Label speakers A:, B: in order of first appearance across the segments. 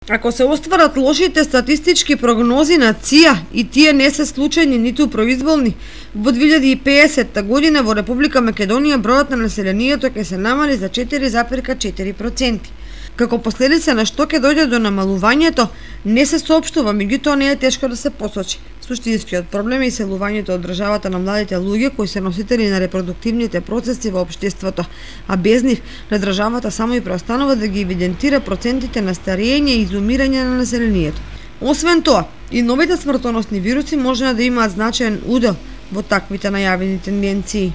A: Ако се остварат лошите статистички прогнози на ЦИА и тие не се случајни ниту произволни, во 2050 година во Република Македонија бројот на населението ќе се намали за 4,4%. Како последица на што ќе дојде до намалувањето, не се соопштува, меѓутоа не е тешко да се посочи. Суштинскиот проблем е иселувањето од државата на младите луѓе кои се носители на репродуктивните процеси во општеството, а без нив на државата само и преостанува да ги евидентира процентите на старење и изумирање на населението. Освен тоа, и новите смртоносни вируси може да имаат значаен удел во таквите најавени тенденции.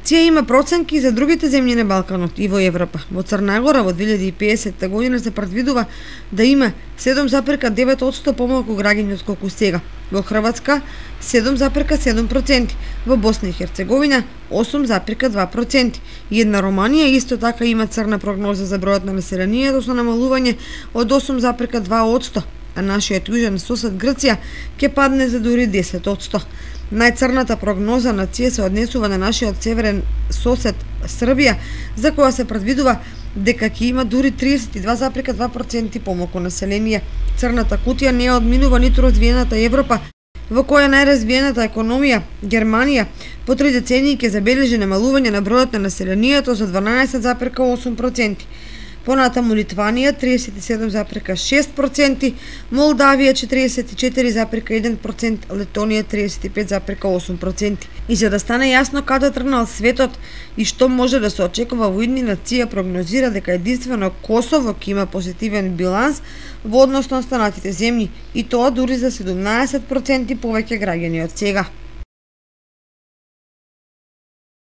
A: ЦИА има проценки за другите земји на Балканот и во Европа. Во Црна Гора во 2050 година се предвидува да има 7,9% помалку граѓање отколку сега. Во Хрватска 7,7%, во Босна и Херцеговина 8,2%. И една Романија исто така има црна прогноза за бројот на населението со намалување од 8,2%, а нашиот јужен сосед Грција ќе падне за дури 10%. Најцрната прогноза на ЦИА се однесува на нашиот северен сосед Србија, за која се предвидува дека ќе има дури 32,2% помалку население. Црната кутија не одминува ниту развиената Европа, во која најразвиената економија, Германија, по 3 децении ќе забележи намалување на бројот на населението за 12,8%. Понатаму Литванија 37,6%, Молдавија 44,1%, Летонија 35,8%. И за да стане јасно каде тргнал светот и што може да се очекува во иднина, ЦИА прогнозира дека единствено Косово ќе има позитивен биланс во однос на останатите земји, и тоа дури за 17% повеќе граѓани од сега.